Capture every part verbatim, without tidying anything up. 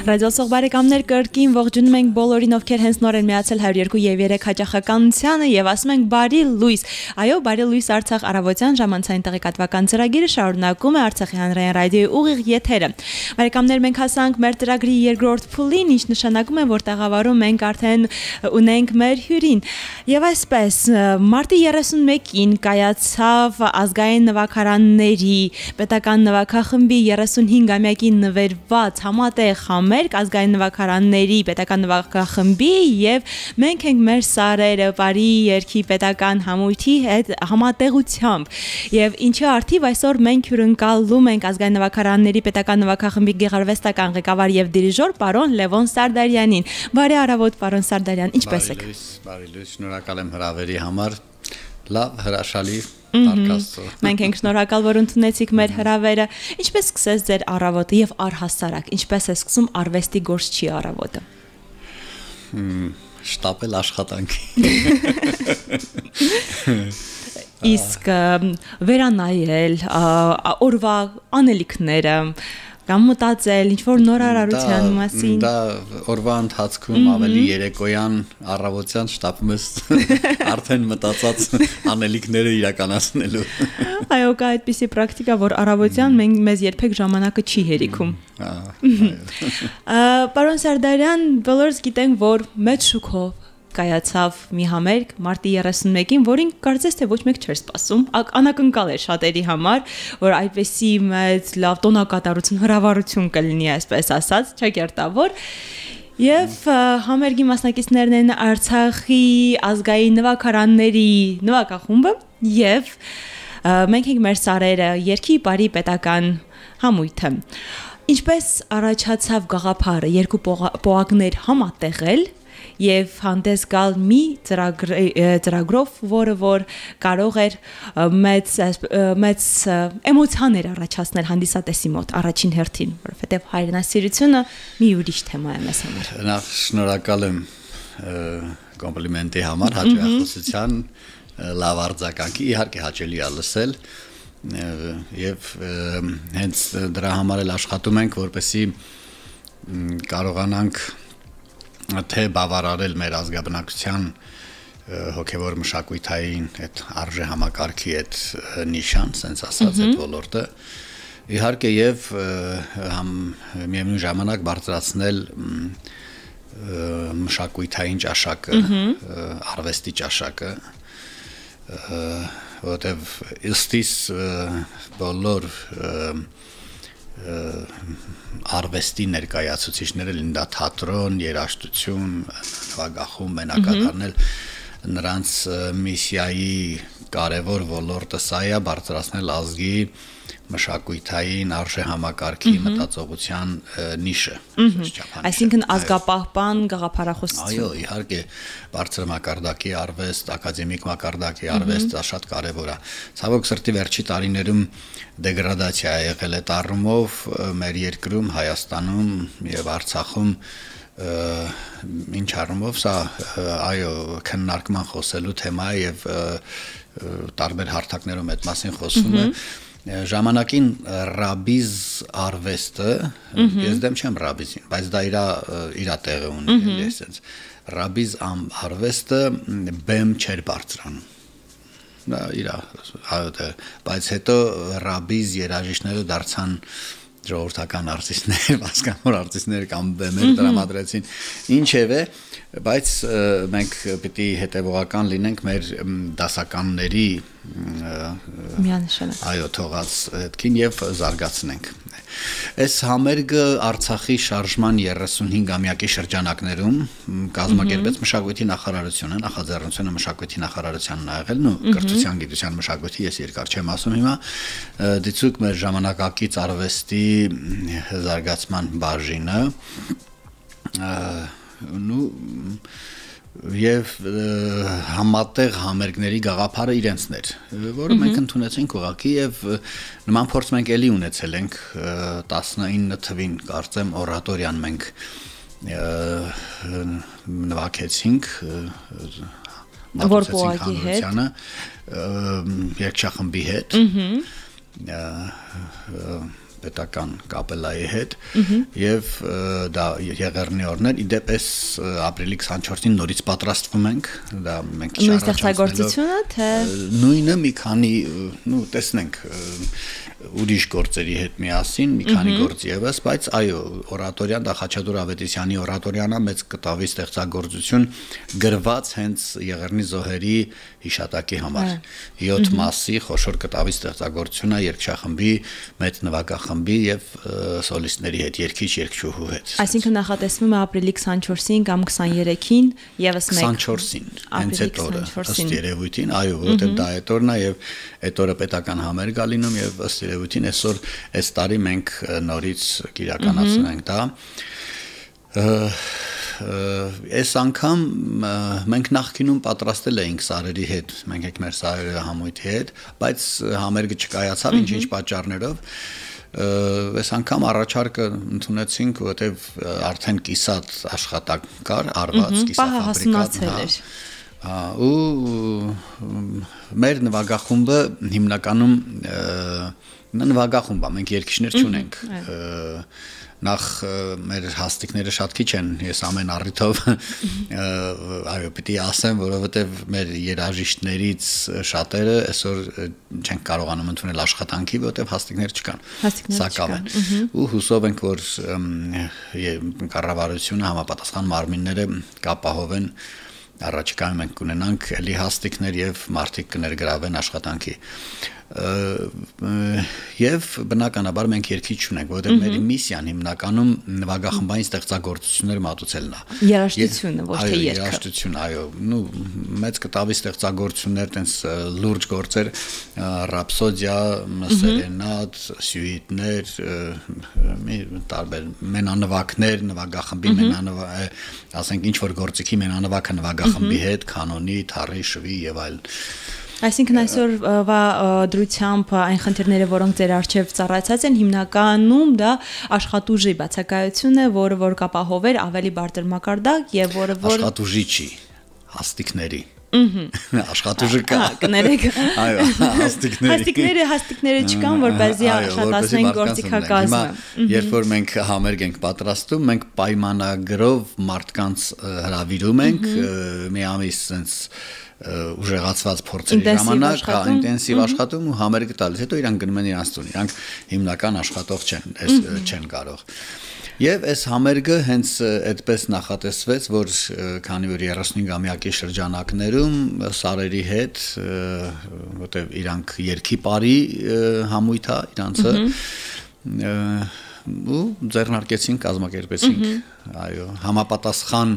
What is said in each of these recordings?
Ռադիոսող բարեկամներ կրկին ողջունում ենք բոլորին, ովքեր հենց նոր են միացել հարյուր երկու եւ երեք հաճախականությանը եւ ասում ենք բարի լույս։ Այո, բարի լույս Արցախ առավոտյան ժամանցային տեղեկատվական ծրագիրը շարունակում է Արցախի հանրային ռադիոյի ուղիղ եթերը։ Բարեկամներ, մենք հասանք մեր ծրագրի երկրորդ փուլին, ինչ նշանակում է, որ տաղավարում մենք արդեն ունենք մեր հյուրին։ Եվ այսպես, մարտի երեսունմեկին կայացավ ազգային նվագարանների պետական նվագախմբի երեսունհինգամյակին նվիրված համատեղ համերգ ազգային նվագարանների պետական նվագախմբի եւ մենք ենք մեր սարերը բարի երկի պետական համույթի հետ համատեղությամբ եւ ինչի արդիվ այսօր մենք հյուրընկալում ենք ազգային նվագարանների պետական նվագախմբի գեղարվեստական ղեկավար եւ դիրիժոր պարոն Լևոն Սարդարյանին։ Բարի առավոտ պարոն Սարդարյան, ինչպե՞ս եք։ Բարի լույս, շնորհակալ եմ հրավերի համար։ Լավ, հրաշալի Արկաստո։ Մենք ենք շնորհակալ, որ ընդունեցիք մեր հրավերը։ Ինչպես սկսեց ձեր առավոտը եւ առհասարակ, ինչպես է սկսում արվեստի գործչի առավոտը։ Շտապել աշխատանքի։ Իսկ վերանայել օրվա անելիքները կամ մտածել ինչ-որ նոր արարության մասին։ Դա օրվա ընթացքում ավելի երեկոյան առավոտյան շտապում ես արդեն մտածած անելիքները իրականացնելու։ Այո, կա այդպիսի պրակտիկա, որ առավոտյան մենք մեզ երբեք ժամանակը չի հերիքում։ Պարոն Սարդարյան, բոլորս գիտենք, որ մեծ շուկով կայացավ մի համերգ մարտի երեսունմեկին, որին կարծես թե ոչ մեկ չէր սպասում, անակնկալ էր շատերի համար, որ այդպեսի մեծ լավ տոնակատարություն, հրավառություն կլինի, այսպես ասած, չակերտավոր։ Եվ համերգի մասնակիցներն են Արցախի ազգային նվագարանների նվագախումբը եւ մենք ենք մեր սարերը երկի բարի պետական համույթը։ Ինչպես առաջացավ գաղափարը երկու պոակներ համատեղել եւ հանդես գալ մի ծրագրով, որը որ կարող էր մեծ մեծ էմոցիաներ առաջացնել հանդիսատեսի մոտ առաջին հերթին, որովհետեւ հայրենասիրությունը մի ուրիշ թեմա է մեզ համար։ Նախ շնորհակալ եմ կոմպլիմենտի համար, հաջողության, լավ արձագանքի, իհարկե հաճելի է լսել եւ հենց դրա համար էլ աշխատում ենք, որպեսզի կարողանանք թե բավարարել մեր ազգաբնակության հոգևոր մշակույթային այդ արժե համակարգի այդ նիշան, ասենց ասած, այդ ոլորտը իհարկե եւ միևնույն ժամանակ բարձրացնել մշակույթային ճաշակը, արվեստի ճաշակը, որտեւ ըստիս բոլոր արվեստի ներկայացուցիչները լինեն դա թատրոն, երաժշտություն, նվագախումբ, մենակատարնել նրանց միսիայի կարևոր ոլորտը սա է բարձրացնել ազգի մշակույթային արժե համակարգի մտածողության նիշը։ Այսինքն ազգապահպան գաղափարախոսություն։ Այո, իհարկե բարձր մակարդակի արվեստ, ակադեմիկ մակարդակի արվեստ, դա շատ կարևոր է։ Ցավոք սրտի վերջի տարիներում դեգրադացիա է եղել այդ առումով մեր երկրում, Հայաստանում եւ Արցախում ինչ առումով սա այո քննարկման խոսելու թեմա է եւ տարբեր հարթակներում այդ մասին խոսում է ժամանակին ռաբիզ արվեստը ես դեմ չեմ ռաբիզին, բայց դա իր իր տեղը ունի, այսպես ռաբիզ արվեստը բեմ չէր բարձրանում։ Դա իր այո, բայց հետո ռաբիզ երաժիշտները դարձան ժողովրդական արտիստներ, հասկանոր արտիստներ կամ բեմեր տրամադրեցին, ինչևէ, բայց մենք պիտի հետևողական լինենք մեր դասականների միանշանակ այո թողած հետքին եւ զարգացնենք։ Այս համերգը Արցախի շարժման երեսունհինգամյակի շրջանակներում կազմակերպեց մշակույթի նախարարությունը, նախաձեռնությունը մշակույթի նախարարությանն ա եղել, նո կրթության, գիտության, մշակույթի, ես երկար չեմ ասում հիմա, դիցուկ մեր ժամանակակից արվեստի զարգացման բաժինը, նու եւ համատեղ համերգների գաղափարը իրենցն էր, որը մենք ընդունեցինք ուղղակի եւ նման փորձ մենք էլի ունեցել ենք տասնինը թվին, կարծեմ օրատորիան մենք նվագեցինք որ պոակի հետ երկչախմբի հետ պետական կապելայի հետ եւ դա եղեռնի օրներ իդեպ էս ապրիլի քսանչորսին նորից պատրաստվում ենք դա մենք նույն ստեղծագործությունը թե նույնը մի քանի նու տեսնենք ուրիշ գործերի հետ միասին մի քանի գործ եւս, բայց այո, օրատորիան դա Խաչատուր Ավետիսյանի օրատորիան է մեծ կտավի ստեղծագործություն գրված հենց Եղեռնի զոհերի հիշատակի համար։ յոթ մասի խոշոր կտավի ստեղծագործություն է երգչախմբի, մեծ նվագախմբի եւ սոլիստների հետ, երգիչ երգչուհու հետ։ Այսինքն նախատեսվում է ապրիլի քսանչորսին կամ քսաներեքին եւս մեկ քսանչորսին հենց այդ օրը ըստ երևույթին, այո, որովհետեւ դա այդ օրն է եւ այդ օրը պետական համերգ է լինում եւ ըստ երևույթին այսօր այս տարի մենք նորից կիրականացնում ենք դա այս անգամ մենք նախկինում պատրաստել էինք սարերի հետ մենք եք մեր սարերը համույթի հետ բայց համերգը չկայացավ ինչ-ինչ պատճառներով այս անգամ առաջարկը ընդունեցինք որովհետեւ արդեն կիսատ աշխատանք կար արված կիսա ֆաբրիկատ ու մեր նվագախումբը հիմնականում նվագախումբ է մենք երգիչներ չունենք նախ մեր հաստիկները շատ քիչ են ես ամեն առիթով այո պիտի ասեմ որովհետև մեր երաժիշտներից շատերը այսօր չեն կարողանում ընդունել աշխատանքի որովհետև հաստիկներ չկան սակավ են ու հուսով ենք որ կառավարությունը համապատասխան մարմինները կապահովեն առաջիկայում մենք կունենանք էլի հաստիկներ եւ մարդիկ կներգրավեն աշխատանքի եւ բնականաբար մենք երկիչ չունենք որովհետեւ մեր միսիան հիմնականում նվագախմբային ստեղծագործություններ մատուցելն է երաժշտությունը ոչ թե երգը երաժշտություն այո նու մեծ կտավի ստեղծագործություններ տենց լուրջ գործեր ռապսոդիա սերենադ սյուիտներ մի տարբեր մենանվակներ նվագախմբի մենանվակ ասենք ինչ որ գործիքի մենանվակը նվագախմբի հետ կանոնի թառի շվի եւ այլն Այսինքն այսօրվա դրությամբ այն խնդիրները, որոնք ձեր առջև ծառայացած են, հիմնականում դա աշխատուժի բացակայությունն է, որը որ կապահովեր ավելի բարձր մակարդակ եւ որը որ աշխատուժի չի, հաստիկների աշխատուժը կա կներեք այո հաստիկների հաստիկները հաստիկները չկան որպեսզի աշխատացնեն գործիքակազմը երբ որ մենք համերգ ենք պատրաստում մենք պայմանագրով մարդկանց հրավիրում ենք մի ամիս sense ուժեղացված փորձերի ժամանակ ինտենսիվ աշխատում ու համերգը տալիս հետո իրանք գնում են իրանց տուն իրանք հիմնական աշխատող չեն այս չեն կարող Եվ այս համերգը հենց այդպես նախատեսվեց, որ քանի որ երեսունհինգամյակի շրջանակներում սարերի հետ, որտեղ իրանք երկի բարի համույթ է իրանցը, ու ձեռնարկեցինք, կազմակերպեցինք, այո, համապատասխան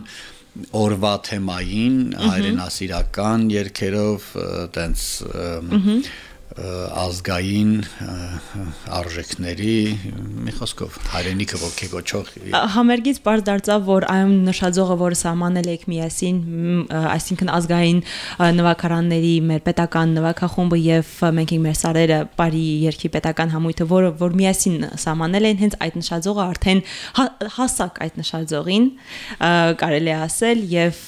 օրվա թեմային, հայրենասիրական երգերով, տենց ազգային արժեքների մի խոսքով հայրենիքը ոգեգոճող համերգից բարձ դարձավ որ այն նշաձողը որը սահմանել եք միասին այսինքն ազգային նվագարանների մեր պետական նվագախումբը եւ մենք ենք մեր սարերը բարի երկի պետական համույթը որը որ միասին սահմանել են հենց այդ նշաձողը արդեն հասակ այդ նշաձողին կարելի է ասել եւ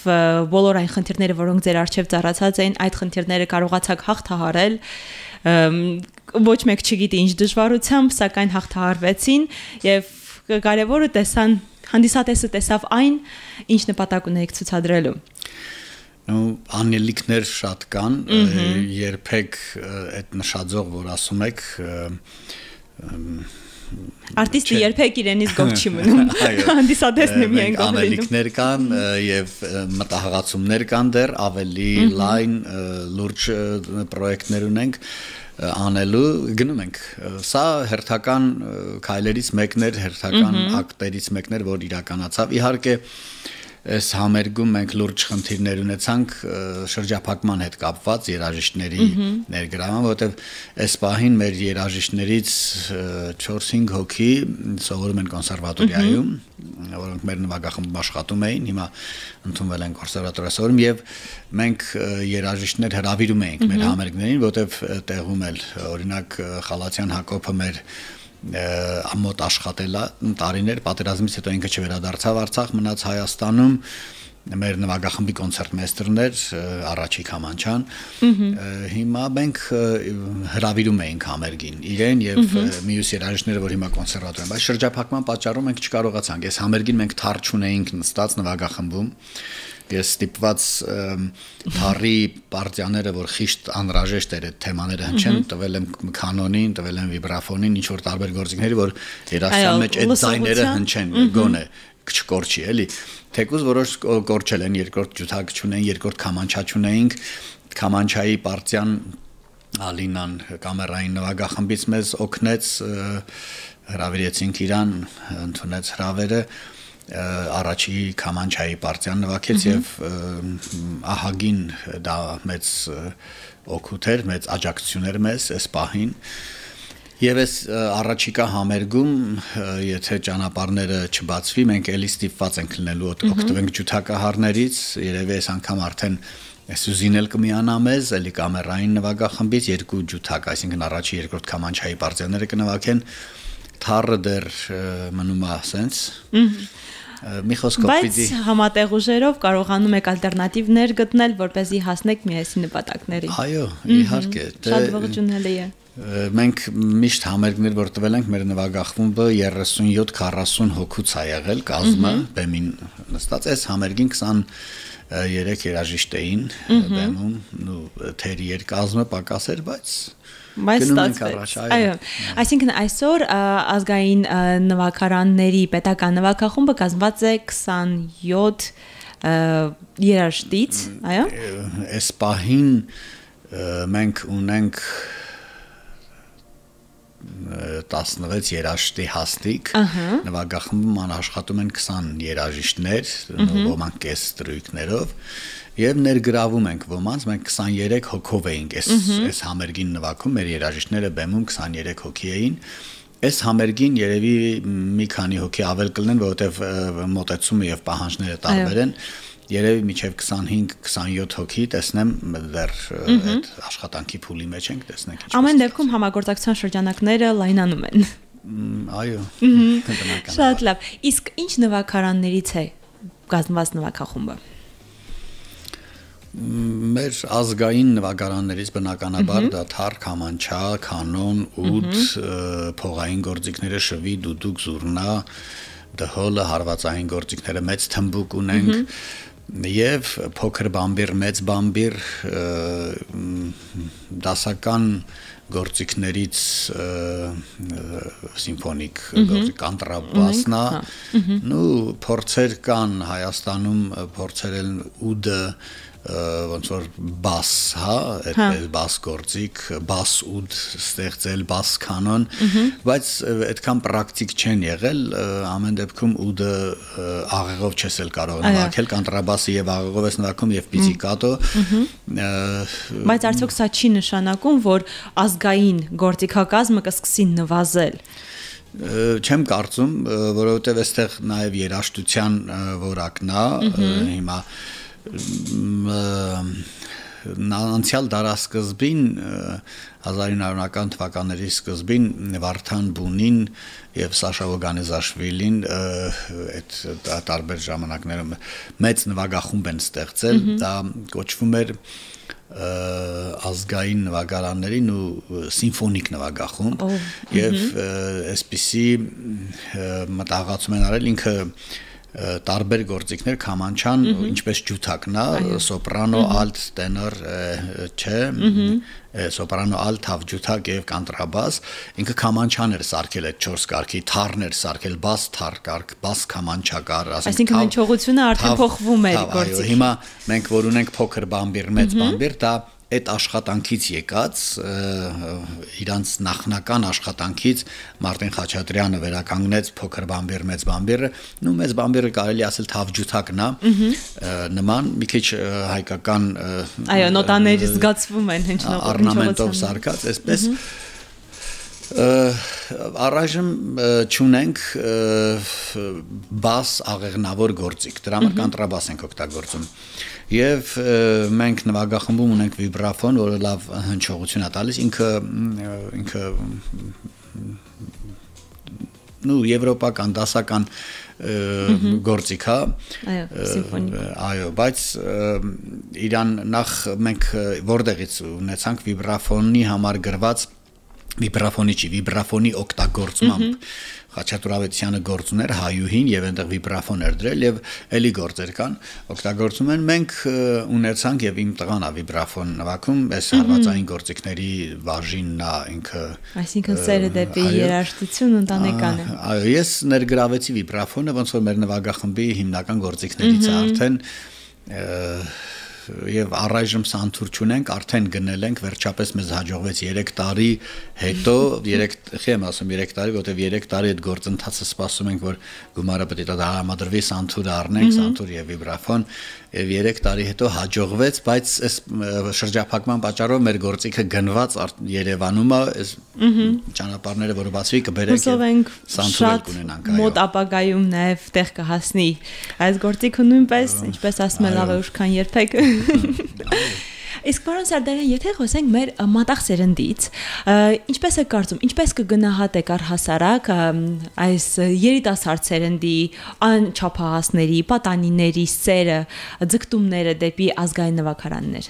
բոլոր այն խնդիրները որոնք ձեր արժեվ ծառացած էին այդ խնդիրները կարողացաք հաղթահարել ոչ մեկ չգիտի ինչ դժվարությամբ, սակայն հաղթահարվեցին եւ կարեւորը տեսան հանդիսատեսը տեսավ այն, ինչ նպատակ ունեիք ցուցադրելու։ Ու անելիքներ շատ կան, երբեք այդ նշաձող, որ ասում եք, Արտիստը երբեք իրենից գոհ չի մնում։ Հանդիսատեսն է միայն գոհ լինում։ Անելիքներ կան եւ մտահղացումներ կան դեռ ավելի լայն լուրջ պրոյեկտներ ունենք անելու գնում ենք սա հերթական քայլերից մեկն էր հերթական ակտերից մեկն էր որ իրականացավ իհարկե Այս համերգում մենք լուրջ խնդիրներ ունեցանք շրջափակման հետ կապված երաժիշտների ներգրավման, որովհետև այս պահին մեր երաժիշտներից չորս-հինգ հոգի սովորում են կոնսերվատորիայում, որոնք մեր նվագախմբում աշխատում էին, հիմա ընդունվել են կոնսերվատորիա սովորում եւ մենք երաժիշտներ հրավիրում էինք մեր համերգներին, որովհետև տեղում էլ օրինակ Խալաթյան Հակոբը մեր ամոթ աշխատել տարիներ, պատերազմից հետո ինքը չվերադարձավ Արցախ, մնաց Հայաստանում, մեր նվագախմբի կոնցերտմեյստերներ Արաչիկ Քամանչյան հիմա մենք հրավիրում էինք համերգին իրեն եւ մյուս երաժիշտները որ հիմա կոնսերվատոր են բայց շրջափակման պատճառով մենք չկարողացանք այս համերգին մենք թար չունեինք նստած նվագախմբում ես ստիպված թարի պարտիաները որ խիշտ անհրաժեշտ էր այդ թեմաները հնչեն տվել եմ կանոնին տվել եմ վիբրաֆոնին ինչ որ տարբեր գործիքների որ երաժշտության մեջ այդ ձայները հնչեն գոնե չկորչի էլի թեկուզ որոշ կորչել են երկրորդ ջութակ չունեն երկրորդ քամանչա չունեինք քամանչայի պարտիան Ալինան կամերային նվագախմբից մեզ օգնեց հրավիրեցինք իրան ընդունեց հրավերը առաջի քամանչայի պարտիան նվագեց եւ ահագին դա մեծ օգուտ էր մեծ աջակցություն էր մեզ այս պահին Եվ այս առաջիկա համերգում, եթե ճանապարհները չբացվի, մենք էլի ստիպված ենք լինելու օգտվենք ջութակահարներից, երևի այս անգամ արդեն Սյուզին էլ կմիանա մեզ, էլի կամերային նվագախմբից երկու ջութակ, այսինքն առաջի երկրորդ քամանչայի պարտիաները կնվագեն, թառը դեռ մնում է ասենց Մի խոսքով պիտի Բայց համատեղ ուժերով կարողանում եք ալտերնատիվներ գտնել, որպեսզի հասնեք միասին նպատակներին։ Այո, իհարկե։ Շատ ողջունելի է։ Մենք միշտ համերգներ որ տվել ենք մեր նվագախմբը երեսունյոթ քառասուն հոգուց է եղել կազմը բեմին նստած այս համերգին քսաներեք երաժիշտ էին բեմում ու թերի երկազմը պակաս էր բայց Բայց ստացվեց։ Այո, այսինքն այսօր ազգային նվագարանների պետական նվագախումբը կազմված է քսանյոթ երաժշտից, այո։ Այս պահին մենք ունենք տասնվեց երաժշտի հաստիկ նվագախմբում անաշխատում են քսան երաժիշտներ ոմանք կես ստրույքներով եւ ներգրավում ենք ոմանց մենք քսաներեք հոգով էինք այս այս համերգին նվագում մեր երաժիշտները բեմում քսաներեք հոգի էին այս համերգին երևի մի քանի հոգի ավել կլինեն որովհետեւ մոտեցումը եւ պահանջները տարբեր են Երևի միջև քսանհինգ քսանյոթ հոգի տեսնեմ դեռ այդ աշխատանքի փուլի մեջ ենք տեսնենք ինչպես Ամեն դեպքում համագործակցության շրջանակները լայնանում են Այո Շատ լավ Իսկ ինչ նվագարաններից է կազմված նվագախումբը Մեր ազգային նվագարաններից բնականաբար դա թար, քամանչա, կանոն, ուդ, փողային գործիքները շվի, դուդուկ, զուռնա, դհոլը, հարվածային գործիքները մեծ թմբուկ ունենք եւ փոքր բամբիր, մեծ բամբիր դասական գործիքներից սիմֆոնիկ գործիք կանտրաբասնա նու փորձեր կան Հայաստանում փորձեր են ուդը ոնց որ բաս, հա, այդ բաս գործիք, բաս ուդ ստեղծել, բաս կանոն, բայց այդքան պրակտիկ չեն եղել, ամեն դեպքում ուդը աղեղով չես էլ կարող նվագել, կանտրաբասը եւ աղեղով ես նվագում եւ պիզիկատո։ Բայց արդյոք սա չի նշանակում, որ ազգային գործիքակազմը կսկսի նվազել։ Չեմ կարծում, որովհետեւ այստեղ նաեւ երաժշտության որակն է, հիմա անցյալ դարասկզբին հազար ինը հարյուրական թվականների սկզբին Վարդան Բունին եւ Սաշա Վոգանեզաշվիլին այդ տարբեր ժամանակներում մեծ նվագախումբ են ստեղծել դա կոչվում էր ազգային նվագարաններին ու սիմֆոնիկ նվագախումբ եւ այսպիսի մտահղացում են արել ինքը տարբեր գործիքներ քամանչան ինչպես ջութակն է սոպրանո ալտ տենոր չէ սոպրանո ալտ թավ ջութակ եւ կանտրաբաս ինքը քամանչան էր սարքել այդ չորս կարգի թառներ սարքել բաս թառ կարգ բաս քամանչա կար այսինքն հնչողությունը արդեն փոխվում էր գործիքի հիմա մենք որ ունենք փոքր բամբիր մեծ բամբիր դա այդ աշխատանքից եկած իրանց նախնական աշխատանքից Մարտին Խաչատրյանը վերականգնեց փոքր բամբիր մեծ բամբիրը նու մեծ բամբիրը կարելի ասել թավ ջութակն է նման մի քիչ հայկական այո նոտաների զգացվում են հնչնող օրնամենտով սարքած այսպես առայժմ չունենք բաս աղեղնավոր գործիք դրա համար կանտրաբաս ենք օգտագործում եւ մենք նվագախմբում ունենք վիբրաֆոն որը լավ հնչողություն է տալիս ինքը ինքը նու եվրոպական դասական գործիք է այո սիմֆոնիկ այո բայց իրան նախ մենք որտեղից ունեցանք վիբրաֆոնի համար գրված վիբրաֆոնի չի վիբրաֆոնի օգտագործմամբ Խաչատուր Ավետիսյանը գործում էր հայուհին եւ այնտեղ վիբրաֆոն էր դրել եւ էլի գործեր կան օգտագործում են մենք ունեցանք եւ իմ տղան է վիբրաֆոն նվագում այս հարվածային գործիքների բաժինն է ինքը այսինքն սերը դեպի երաժշտություն ընտանեկան է այո ես ներգրավեցի վիբրաֆոնը ոնց որ մեր նվագախմբի հիմնական գործիքներից է արդեն եւ առայժմ սանթուր չունենք, արդեն գնել ենք, վերջապես մեզ հաջողվեց երեք տարի հետո, երեք, խեմ ասում երեք տարի, որտեւ երեք տարի այդ գործընթացը սպասում ենք, որ գումարը պետք է դրամադրվի, սանթուրը առնենք, սանթուր եւ վիբրաֆոն, եւ երեք տարի հետո հաջողվեց, բայց այս շրջափակման պատճառով մեր գործիքը գնված Երևանում է, այս ճանապարհները, որը բացվի կբերենք սանթուրը կունենանք, այո։ Մոտ ապագայում նաեւ տեղ կհասնի այս գործիքը նույնպես, ինչպես ասում են, լավ է ուշքան երբեք Իսկ պարոն Սարդարյան, եթե խոսենք մեր մատաղ սերնդից, ինչպես է կարծում, ինչպես կգնահատեք առհասարակ այս երիտասարդ սերնդի անչափահասների, պատանիների սերը, ձգտումները դեպի ազգային նվագարաններ։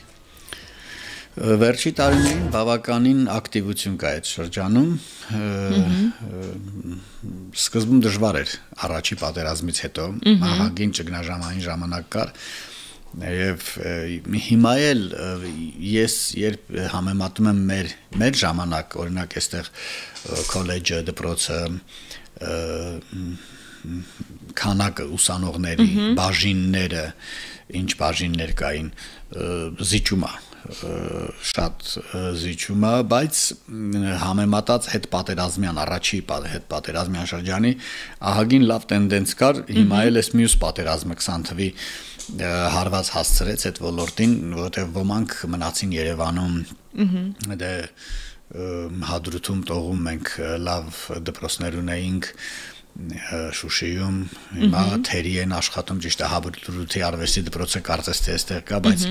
Վերջի տարիներին բավականին ակտիվություն կա այդ շրջանում, սկզբում դժվար էր առաջի պատերազմից հետո, ահագին ճգնաժամային ժամանակ կար, Եվ հիմա էլ ես երբ համեմատում եմ մեր մեր ժամանակ, օրինակ այստեղ քոլեջը, դպրոցը, քանակը ուսանողների, բաժինները, ինչ բաժիններ կային, զիջում է շատ զիջում է, բայց համեմատած հետ պատերազմյան առաջի հետ պատերազմյան շրջանի ահագին լավ տենդենց կար, հիմա էլ էս մյուս պատերազմը քսան թվի հարված հասցրեց այդ ոլորտին, որտեղ ոմանք մնացին Երևանում, դե հադրութում տողում մենք լավ դպրոցներ ունեինք Շուշիում, հիմա թերի են աշխատում, ճիշտ է Հադրութի արվեստի դպրոցը կարծես թե այստեղ կա, բայց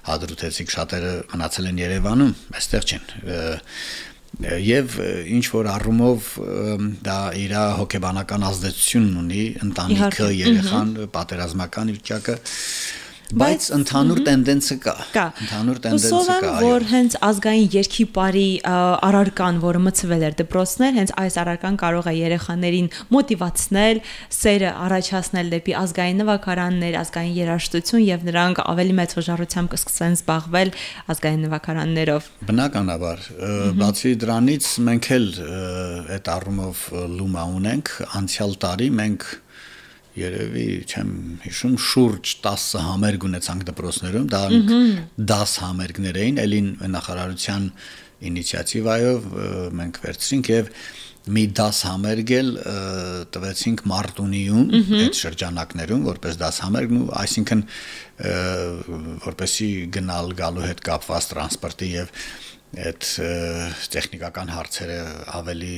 հադրութեցիք շատերը մնացել են Երևանում, այստեղ չեն Եվ ինչ որ առումով դա իր հոգեբանական ազդեցություն ունի ընտանիքը, երեխան, պատերազմական վիճակը Բայց ընդհանուր տենդենսը կա, ընդհանուր տենդենսը կա, որ հենց ազգային երգի բարի առարկան, որը մցվել էր դպրոցներ, հենց այս առարկան կարող է երեխաներին մոտիվացնել, սերը առաջացնել դեպի ազգային նվագարաններ, ազգային երաժշտություն եւ նրանք ավելի մեծ հոժարությամբ կսկսեն զբաղվել ազգային նվագարաններով։ Բնականաբար, բացի դրանից մենք էլ այդ առումով լումա ունենք, անցյալ տարի մենք Երևի չեմ հիշում շուրջ տասը համերգ ունեցանք դպրոցներում, դա դաս համերգներ էին, ելին նախարարության ինիցիատիվայով մենք վերցրինք եւ մի դաս համերգ էլ տվեցինք Մարտունիում, այդ շրջանակներում, որպես դաս համերգ, ու այսինքն որպեսի գնալ գալու հետ կապված տրանսպորտի եւ այդ տեխնիկական հարցերը ավելի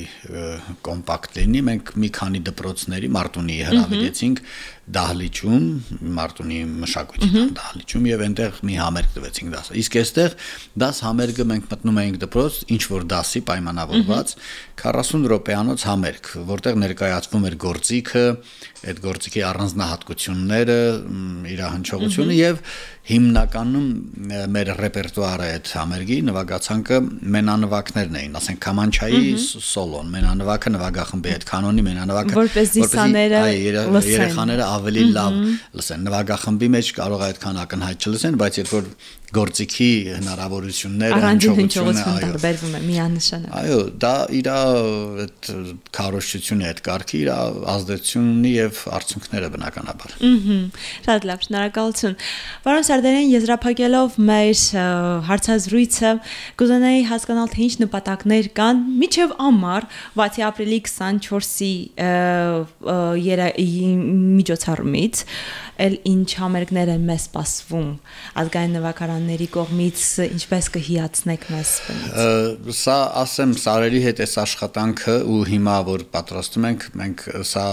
կոմպակտ լինի, մենք մի քանի դպրոցների Մարտունիի հրավիրեցինք Դահլիճում, Մարտունի մշակույթի Դահլիճում եւ այնտեղ մի համերգ տվեցինք դասը։ Իսկ այստեղ դաս համերգը մենք մտնում էինք դպրոց, ինչ որ դասի պայմանավորված քառասուն րոպեանոց համերգ, որտեղ ներկայացվում էր գործիքը, այդ գործիքի առանձնահատկությունները, իր հնչողությունը եւ հիմնականում մեր ռեպերտուարը այդ համերգի նվագացանկը մենանվագներն էին, ասենք Քամանչայի սոլոն, մենանվագը նվագախմբի այդ կանոնի մենանվագը, որպեսզի երեխաները ավելի լավ լսեն, նվագախմբի մեջ կարող է այդքան ակնհայտ չլսեն, բայց երբ որ գործիքի հնարավորությունները հնչողությունը տարբերվում է միանշանակ։ Այո, դա իր այդ քարոշչությունը, այդ կարգի իր ազդեցությունն ունի եւ արդյունքները բնականաբար։ Ահա, շատ լավ, շնորհակալություն։ Պարոն Սարդարյան, եզրափակելով մեր հարցազրույցը, կուզենայի հասկանալ, թե ինչ նպատակներ կան մինչև ամառ, բացի ապրիլի քսանչորսի միջոցառումից, էլ ինչ համերգներ են մեզ սպասվում ազգային նվագարանների կողմից, ինչպես կհիացնեք մեզ բնից։ Սա ասեմ Սարերի հետ այս աշխատանքը ու հիմա որ պատրաստում ենք, մենք սա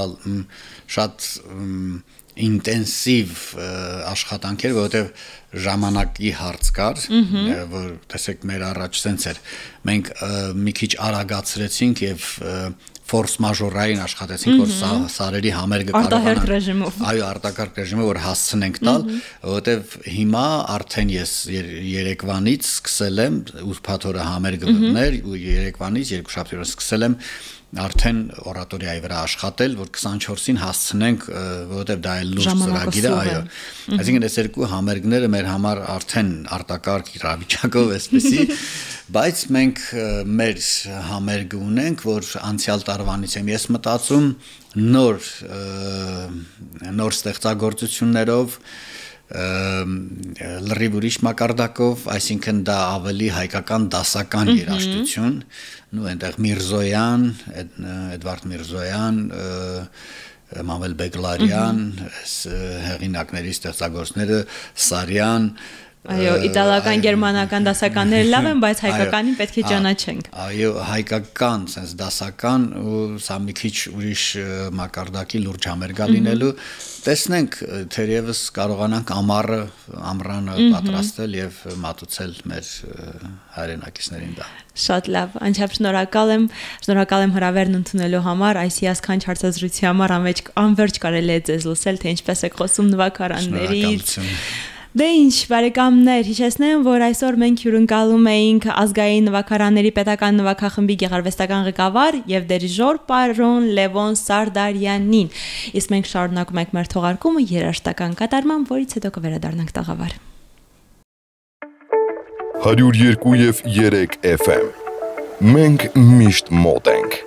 շատ ինտենսիվ աշխատանք էր, որովհետև ժամանակի հարց կար, որ տեսեք մեր առաջ սենց էր։ Մենք մի քիչ արագացրեցինք եւ ֆորս մաժորային աշխատեցինք, որ սարերի համերգը կարողանանք։ Այո, արտակարգ ռեժիմը, որ հասցնենք տալ, որովհետև հիմա արդեն ես երեկվանից սկսել եմ ուրբաթ օրը համերգը մտներ ու երեկվանից երկուշաբթի օրը սկսել եմ արդեն օրատորիայի վրա աշխատել, որ քսանչորսին հասցնենք, որովհետև դա էլ լուրջ ծրագիր է, այո։ Այսինքն այս երկու համերգները մեր համար արդեն արտակարգ իրավիճակով էսպիսի, բայց մենք մեր համերգը ունենք, որ անցյալ տարվանից եմ ես մտածում նոր նոր ստեղծագործություններով լրիվ ուրիշ մակարդակով, այսինքն դա ավելի հայկական դասական երաժշտություն, նու այնտեղ Միրզոյան, Էդվարդ Միրզոյան, Մամել Բեգլարյան, հեղինակների ստեղծագործները Սարյան, Այո, իտալական, գերմանական դասականները լավ են, բայց հայկականին պետք է ճանաչենք։ Այո, հայկական, sense դասական ու սա մի քիչ ուրիշ մակարդակի լուրջ համերգ լինելու, տեսնենք, թերևս կարողանանք ամառը, ամռանը պատրաստել եւ մատուցել մեր հայրենակիցներին դա։ Շատ լավ, անչափ շնորհակալ եմ, շնորհակալ եմ հրավերն ընդունելու համար, այս հիասքանչ հարցազրույցի համար անվերջ կարելի է ձեզ լսել, թե ինչպես եք խոսում նվագարաններից։ Դե ինչ, բարեկամներ, հիշեցնեմ, որ այսօր մենք հյուրընկալում էինք ազգային նվագարանների պետական նվագախմբի գեղարվեստական ղեկավար եւ դիրիժոր պարոն Լևոն Սարդարյանին։ Իսկ մենք շարունակում ենք մեր թողարկումը երաժշտական կատարմամբ, որից հետո կվերադառնանք տաղավար։ հարյուր երկու եւ երեք Էֆ Էմ Մենք միշտ մոտ ենք։